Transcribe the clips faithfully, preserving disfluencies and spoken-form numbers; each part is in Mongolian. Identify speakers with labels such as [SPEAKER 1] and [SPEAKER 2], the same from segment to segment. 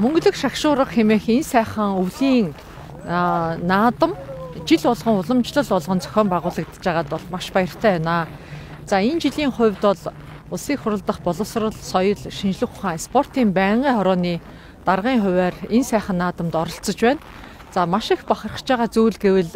[SPEAKER 1] Мөнгөлөг шагшуурга хэмээх энэ сайхан өвлийн наадам жил болгон уламжлал болгон зохион байгуулагдаж байгаад бол маш баяртай байна. За энэ жилийн хувьд бол Улсын хурал дахь боловсрол, соёл, шинжлэх ухаан, спортын байнгын хорооны даргын хувиар энэ сайхан наадамд оролцож байна. За маш их бахархаж байгаа зүйл гэвэл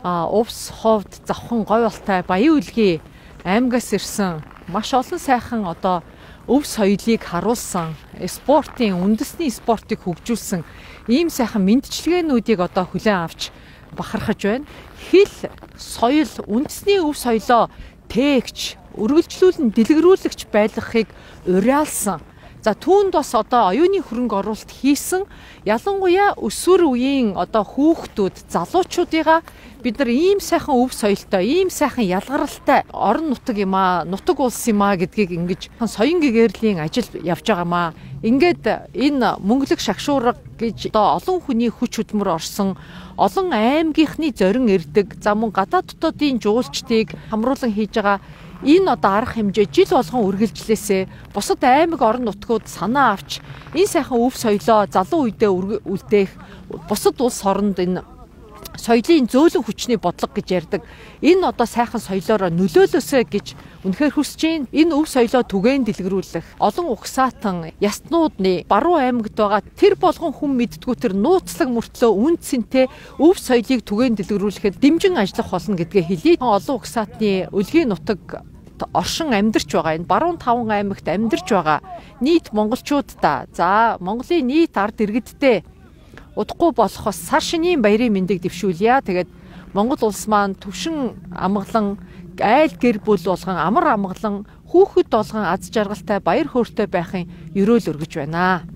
[SPEAKER 1] увс, ховд, завхан, говьолтой, баян үлгий аймгаас ирсэн маш олон сайхан одоо өв соёлыг харуулсан, спортын үндэсний спортыг хөгжүүлсэн ийм сайхан мэндчилгээнүүдийг одоо хүлээн авч бахархаж байна. Хэл, соёл, үндэсний өв соёлоо тээгч, үргэлжлүүлэн дэлгэрүүлэгч байлгахыг уриалсан. За түүнд бас одоо оюуны хөрөнгө оруулалт хийсэн ялангуяа өсвөр үеийн одоо хүүхдүүд, залуучуудыгаа бид нар ийм сайхан өв соёлтой, ийм сайхан ялгаралтай орон нутаг юм аа, нутаг улс юм аа гэдгийг ингэж соён гэгэрлийн ажил явж байгаамаа. Ингээд энэ мөнгөлөг шагшуурга гэж одоо олон хүний хүч хөдөлмөр орсон, олон аймгийнхны зорин ирдэг, за мөн гадаад дотоодын жуулчдыг хамруулан хийж байгаа энэ одоо арга хэмжээ жил болгон үргэлжлээсээ бусад аймаг орон нутгууд санаа авч энэ сайхан өв соёлоо залуу үедээ үлдээх, бусад улс оронд энэ соёлын зөөлөн хүчний бодлого гэж ярьдаг. Энэ одоо сайхан соёлоороо нөлөөлөөсэй гэж үнэхээр хүсэж байна. Энэ өв соёлоо түгээн дэлгэрүүлэх, олон угсаатан ястнуудны баруун аймагт байгаа тэр болгон хүн мэддгүү тэр нууцлаг мөртлөө үн цэнтэй өв соёлыг түгээн дэлгэрүүлэхэд дэмжин ажиллах болно гэдгээ хэлье. Олон угсаатны өлгийн нутаг оршин амьдарч байгаа энэ баруун таван аймагт амьдарч байгаа нийт монголчуудаа за Монголын нийт ард иргэдтэй удахгүй болохоос сар шинийн баярын мэндийг дэвшүүлье. Тэгээд Монгол улс маань төвшин амгалан, айл гэр бүл болгон амар амгалан, хүүхэд болгон аз жаргалтай баяр хөөртэй байхын ерөөл өргөж байна.